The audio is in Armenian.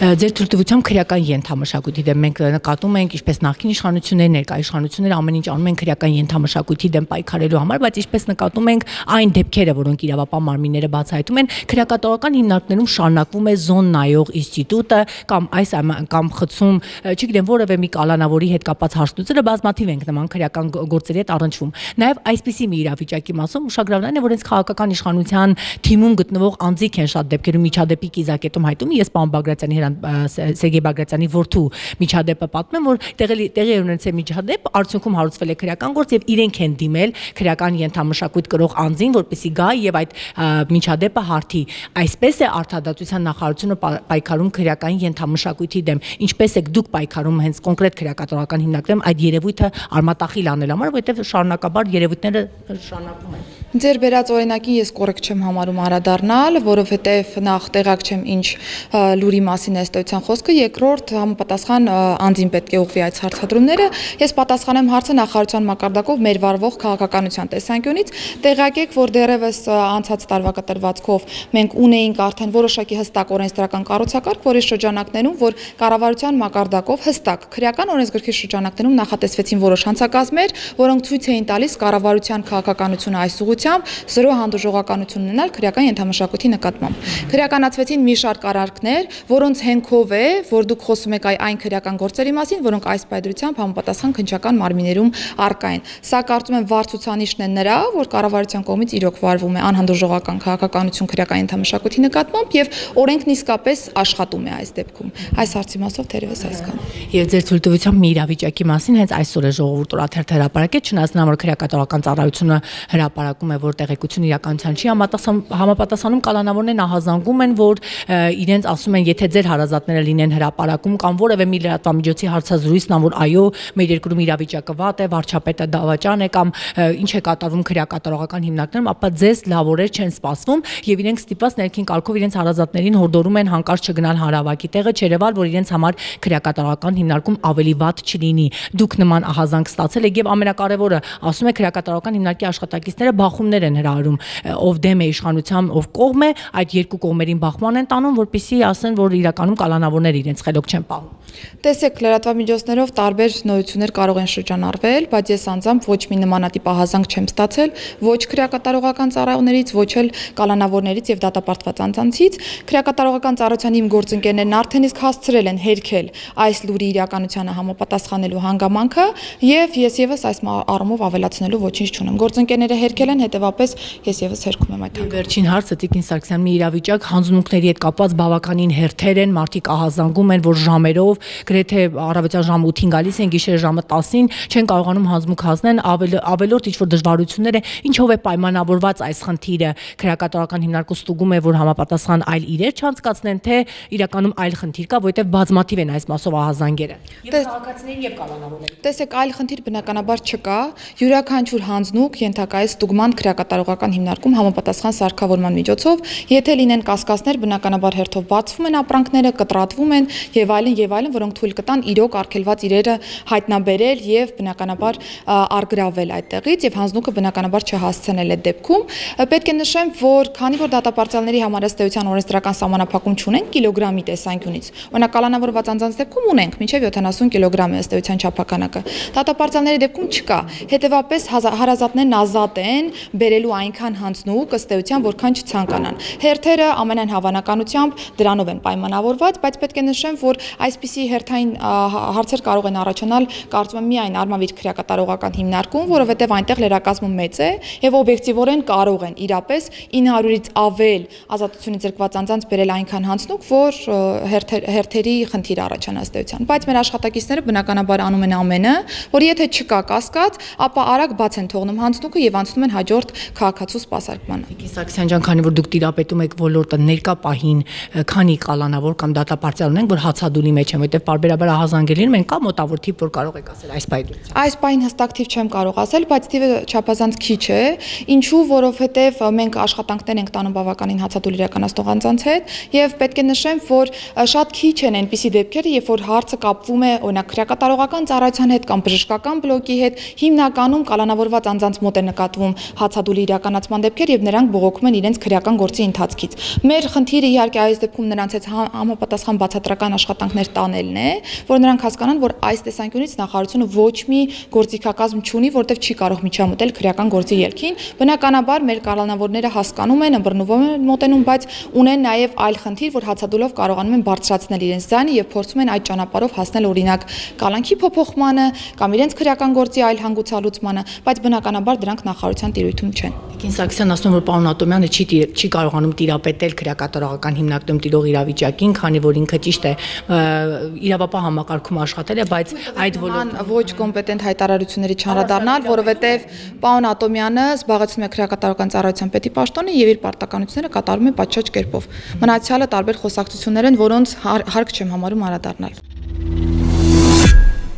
Ձեր թույլտվությամբ քրեական ենթամշակույթի դեմ մենք նկատում ենք ինչպես նախկին իշխանությունները, ներկա իշխանությունները ամեն ինչ անում են քրեական ենթամշակույթի դեմ պայքարելու համար, բայց ինչպես նկատում ենք այն դեպքերը, որոնք իրավապահ մարմինները բացահայտում են, քրեակատարողական հիմնարկներում շարունակվում է զոն նայող ինստիտուտը կամ խցում, չգիտեմ, որևէ մի կալանավորի հետ կապված հարցությունները բազմաթիվ ենք նման քրեական գործերի հետ առնչվում։ Նաև այսպիսի մի իրավիճակի մասում ուշագրավն այն է, որ հենց քաղաքական իշխանության թիմում գտնվող անձիկ են շատ դեպքերում միջադեպի կիզակետում հայտում, ես պարոն Բագրատյանի Սերգեյ Բագրատյանի որդու միջադեպը պատմեմ, որ տեղի ունեցել միջադեպ, արդյունքում հարուցվել է քրեական գործ եւ իրենք են դիմել քրեական ենթամշակույթ կրող անձին, որպեսզի գա եւ այդ միջադեպը հարթի։ Այսպես է արդարադատության նախարարությունը պայքարում քրեական ենթամշակույթի դեմ։ Ինչպես եք դուք պայքարում հենց կոնկրետ քրեակատարական հիմնարկներում այդ երևույթը արմատախիլ անելու համար, որովհետեւ շարունակաբար երևույթները շարունակվում են։ Ձեր բերած օրինակին ես կոռեկտ չեմ համարում անդրադառնալ, որովհետև նախ տեղակ չեմ ինչ լուրի մասին է ըստեյության խոսքը, երկրորդ համապատասխան անձին պետք է ուղղվի այդ հարցադրումները։ Ես պատասխանեմ հարցը նախարարության մակարդակով մեր վարվող քաղաքականության տեսանկյունից։ Տեղակ եք, որ դեռևս անցած տարվա կտրվածքով մենք ունեինք արդեն որոշակի հստակ օրենսդրական կառուցակարգ, որի շրջանակներում, որ կառավարության մակարդակով հստակ քրեական օրենսգրքի շրջանակներում նախատեսվեցին որոշ հանցագազմեր, որոնք ցույց էին տալիս կառավարության քաղաքականությունը այս ուղղությամբ զրո հանդուրժողականություն ունենալ քրեական ենթամշակույթի նկատմամբ։ Քրեականացվեցին մի շարք արարքներ, որոնց հենքով է, որ դուք խոսում եք այն քրեական գործերի մասին, որոնք այս պայմանությամբ համապատասխան քննչական մարմիններում առկա են։ Սա կարծում եմ վառ ցուցանիշն է նրա, որ կառավարության կողմից իրոք վարվում է անհանդուրժողական քաղաքականություն քրեական ենթամշակույթի նկատմամբ եւ օրենքն իսկապես աշխատում է այս դեպքում։ Այս հարցի մասով թերևս այսքան։ Եվ ձեր թույլտվությամբ մի իրավիճակի մասին հենց այսօր է ժողովուրդ օրաթերթը հրապարակեց, չնայած նա որ քրեակատարական ծառայությունը հրապարակում է, որ տեղեկություն իրականության չի համապատասխանում, կալանավորներն ահազանգում են, որ իրենց ասում են, եթե ձեր հարազատները լինեն հրապարակում կամ որևէ մի լրատվամիջոցի հարցազրույցն ան, որ այո, մեր երկրում իրավիճակը վատ է, վարչապետը դավաճան է կամ ինչ է կատարվում քրեակատարողական հիմնարկներում, ապա ձեզ լավ օրեր չեն սպասվում եւ իրենք ստիպված ներքին կարգով իրենց հարազատներին հորդորում են հանկարծ չգնալ հանրավակի տեղը, չերևալ, որ իրենց համար քրեակատարողական հիմնարկում ավելի վատ չլինի։ Դուք նման ահազանգ ստացել եք եւ ամենակարևորը, ասում է քրեակատարողական հիմնարկի աշխատակիցները բախումներ են հրահրում, ով դեմ է իշխանության, ով կողմ է, այդ երկու կողմերին բախման են տանում, որպեսզի ասեն, որ իրականում կալանավորները իրենց խելոք չեն պահում։ Տեսեք, լրատվամիջոցներով տարբեր նորություններ կարող են շրջանառվել, բայց ես անձամբ ոչ մի նմանատիպ ահազանգ չեմ ստացել, ոչ քրեակատարողական ծառայողներից, ոչ էլ կալանավորներից եւ դատապարտված անձանցից։ Քրեակատարողական ծառայության իմ գործընկերներն արդեն իսկ հասցրել են հերքել այս լուրի իրականությանը համապատասխանելու հանգամանքը եւ ես եւս այս առումով ավելացնելու ոչինչ չունեմ։ Գործընկերները հերքել են, հետեւապես ես եւս հերքում եմ այդ։ Վերջին հարցը Տիկին Սարգսյան, մի իրավիճակ հանձնմունքների հետ կապված բավականին հերթեր են, մարդիկ ահազանգում են, որ ժամերով գրեթե առավոտյան ժամը 8-ին գալիս են, գիշերը ժամը 10-ին չեն կարողանում հանձնմունք հանձնել, ավելորդ ինչ-որ դժվարություններ է, ինչով է պայմանավորված այս խնդիրը, քրեակատարողական հիմնարկը ստուգում է, որ համապատասխան այլ իրեր չանցկացնեն, թե իրականում այլ խնդիր կա, որովհետև բազմաթիվ են այս մասով ահազանգերը։ Եվ քաղաքացիների եւ կալանավորների։ Տեսեք, այլ խնդիր բնականաբար չկա, յուրաքանչյուր հանձնուկ ենթակա է ստուգման քրեակատարողական հիմնարկում համապատասխան սարքավորման միջոցով, եթե լինեն կասկածներ, բնականաբար հերթով բացվում են ապրանքները, կտրատվում են եւ այլն, որոնք թույլ կտան իրոք արգելված իրերը հայտնաբերել եւ բնականաբար արգրավել այդտեղից եւ հանձնուկը բնականաբար չհասցնել այդ դեպքում։ Պետք է նշեմ, որ քանի որ դատապարտյալների համար ըստեյության օրենսդրական սահմանափակում չունենք կիլոգրամի տեսանկյունից, օրինակ կալանավորված անձանց դեպքում ունենք մինչեւ 70 կիլոգրամ է ըստեյության չափականակը։ Դատապարտյալների դեպքում չկա։ Հետևաբար հարազատներն ազատ են բերելու այնքան հանձնուկ ըստ էության, որքան չցանկանան։ Հերթերը ամենայն հավանականությամբ դրանով են պայմանավորված, բայց պետք է նշեմ, որ այսպիսի հերթային հարցեր կարող են առաջանալ, կարծում եմ, միայն արմավիր քրեակատարողական հիմնարկում, որովհետև այնտեղ լրակազմը մեծ է եւ օբյեկտիվորեն կարող են իրապես 900-ից ավել ազատությունից զրկված անձանց բերել այնքան հանձնուկ, որ հերթերի խնդիր առաջանա ըստ էության։ Բայց մեր աշխատակիցները բնականաբար անում են ամենը, որ եթե չկա կասկած, ապա արագ բաց են թողնում հանձնուկը եւ անցնում են հաջորդ քաղաքացու սպասարկմանը։ Տիկին Սարգսյան ջան, քանի որ դուք տիրապետում եք ոլորտը, ներկա պահին քանի կալանավոր կամ դատապարտյալ ունենք, որ հացադուլի մեջ են, որտեղ պարբերաբար ահազանգել են, մենք կա մոտավոր թիվ, որ կարող եք ասել այս պայմանությամբ։ Այս պահին հստակ թիվ չեմ կարող ասել, բայց թիվը չափազանց քիչ է, ինչու, որովհետեւ մենք աշխատանքներ ենք տանում բավականին հացադուլ իրականացնող անձանց հետ եւ պետք է նշեմ, որ շատ քիչ են այնպիսի դեպքերը, երբ որ հարցը կապվում է օրինակ քրեակատարողական ծառայության հետ կամ բժշկական բլոկի հետ, հիմնականում կալանավորված անձանց մոտ է նկատվում հացադուլի իրականացման դեպքեր եւ նրանք բողոքում են իրենց քրեական գործի ընթացքից։ Մեր խնդիրը իհարկե այս դեպքում նրանց հետ համապատասխան բացատրական աշխատանքներ տանելն է, որ նրանք հասկանան, որ այս տեսանկյունից նախարարությունը ոչ մի գործիքակազմ չունի, որտեղ չի կարող միջամտել քրեական գործի ելքին։ Բնականաբար մեր կառավարները հասկանում են, ըմբռնվում են մոտենում, բայց ունեն նաեւ այլ խնդիր, որ հացադուլով կարողանում են բարձրացնել իրենց ձայնը եւ փորձում են այդ ճանապարհով հասնել օրինակ կալանքի փոփոխմանը կամ իրենց քրեական գործի այլ հանգուցալուծմանը, բայց բնականաբար դրանք նախարարության տիրույթում չեն։ Տիկին Սարգսյանն ասում որ պարոն Ատոմյանը չի կարողանում տիրապետել քրեակատարողական հիմնարկում տիրող իրավիճակին, քանի որ ինքը ճիշտ է իրավապահ համակարգում աշխատել է, բայց այդ ոչ կոմպետենտ հայտարարությունների չանդրադառնալ, որովհետեւ պարոն Ատոմյանը զբաղեցնում է քրեակատարողական ծառայության պետի պաշտոնը եւ իր պարտականությունները կատարում է պատշաճ կերպով։ Մնացյալը տարբեր խոսակցություններ են, որոնց հարկ չեմ համարում անդրադառնալ։